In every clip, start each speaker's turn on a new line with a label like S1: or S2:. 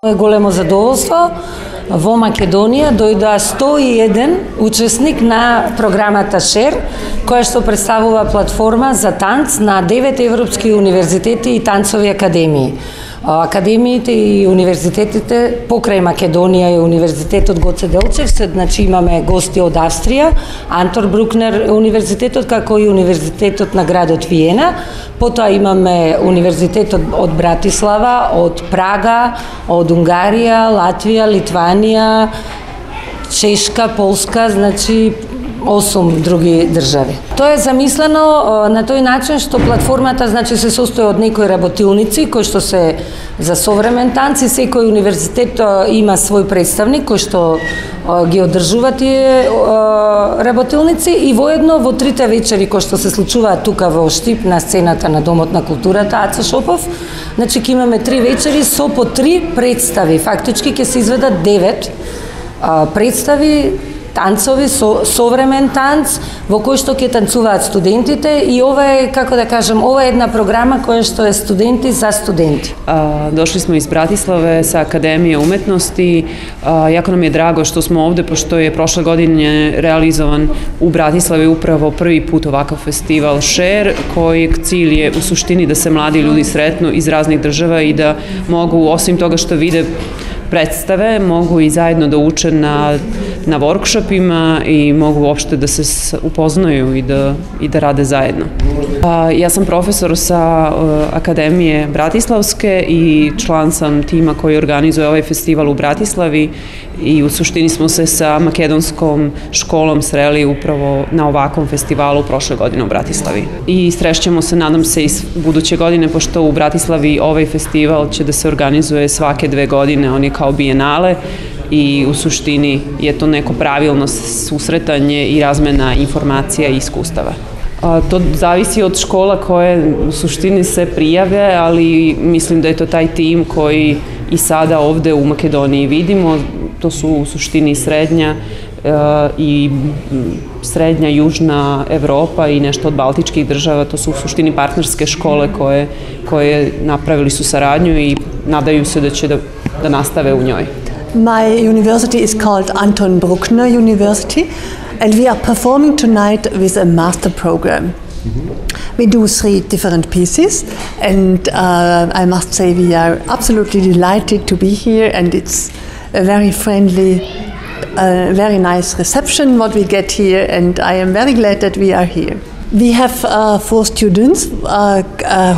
S1: Е големо задоволство во Македонија дојдоа 101 учесник на програмата ШЕР, која што представува платформа за танц на 9 европски универзитети и танцови академии. Академиите и универзитетите покрај Македонија и Универзитетот Гоце Делчев, значи имаме гости од Австрија, Антор Брукнер универзитетот, како и Универзитетот на градот Виена. Потоа имаме Универзитетот од Братислава, од Прага, од Унгарија, Латвија, Литванија, Чешка, Полска, значи 8 други држави. Тоа е замислено на тој начин што платформата значи се состои од некои работилници кои што се за современ танц и секој универзитет има свој представник кој што ги одржува тие работилници и воедно во трите вечери кои што се случуваат тука во Штип на сцената на Домот на културата Аца Шопов, значи ќе имаме 3 вечери со по 3 представи. Фактички ќе се изведат 9 представи танцови, современ танц, во кој што ќе танцуваат студентите и ова е, како да кажем, ова е една програма која што е студенти за студенти.
S2: Дошли smo iz Bratislave sa Akademije umetnosti. Jako nam je drago što smo ovde, pošto je prošle godine realizovan u Bratislavi upravo prvi put ovakav festival ŠER, kojeg cilj je u suštini da se mladi ljudi sretnu iz raznih država i da mogu, osim toga što vide predstave, mogu i zajedno da uče na workshopima i mogu uopšte da se upoznaju i da rade zajedno. Ja sam profesor sa Akademije Bratislavske i član sam tima koji organizuje ovaj festival u Bratislavi i u suštini smo se sa makedonskom školom sreli upravo na ovakvom festivalu prošle godine u Bratislavi. I srešćemo se, nadam se, i buduće godine, pošto u Bratislavi ovaj festival će da se organizuje svake 2 godine, on je kao bijenale i u suštini je to neko pravilno susretanje i razmena informacija i iskustava. To zavisi od škola koje u suštini se prijave, ali mislim da je to taj tim koji i sada ovde u Makedoniji vidimo. To su u suštini srednja južna Evropa i nešto od baltičkih država. To su u suštini partnerske škole koje napravili su saradnju i nadaju se da će da nastave u njoj.
S3: My university is called Anton Bruckner University, and we are performing tonight with a master program. We do 3 different pieces, and I must say we are absolutely delighted to be here, and it's a very friendly, very nice reception what we get here, and I am very glad that we are here. We have 4 students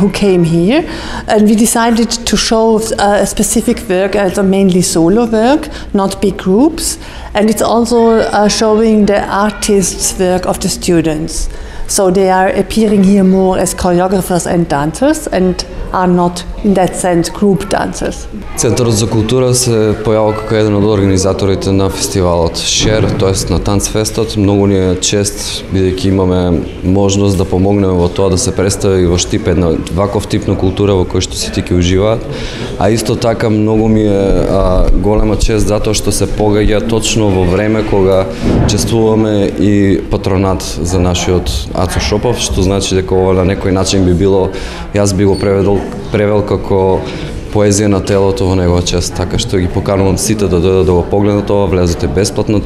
S3: who came here, and we decided to show a specific work, mainly solo work, not big groups, and it's also showing the artists' work of the students. So they are appearing here more as choreographers and dancers and are not in that sense group dancers.
S4: Центарот за култура се појавил како еден од организаторите на фестивалот ШЕР, тоест на Танцфестот. Многу ни е чест, бидејќи имаме можност да помогнеме во тоа да се представи во Штип една ваков тип на култура во кој што сите ќе уживаат. А исто така многу ми е голема чест затоа што се погаѓа точно во време кога чествуваме и патронат за нашиот Ацо Шопов, што значи дека ова на некој начин би било, јас би го превел како поезија на телото во негова чест, така што ги поканувам сите да дојдат да го погледнат ова, влезете бесплатно.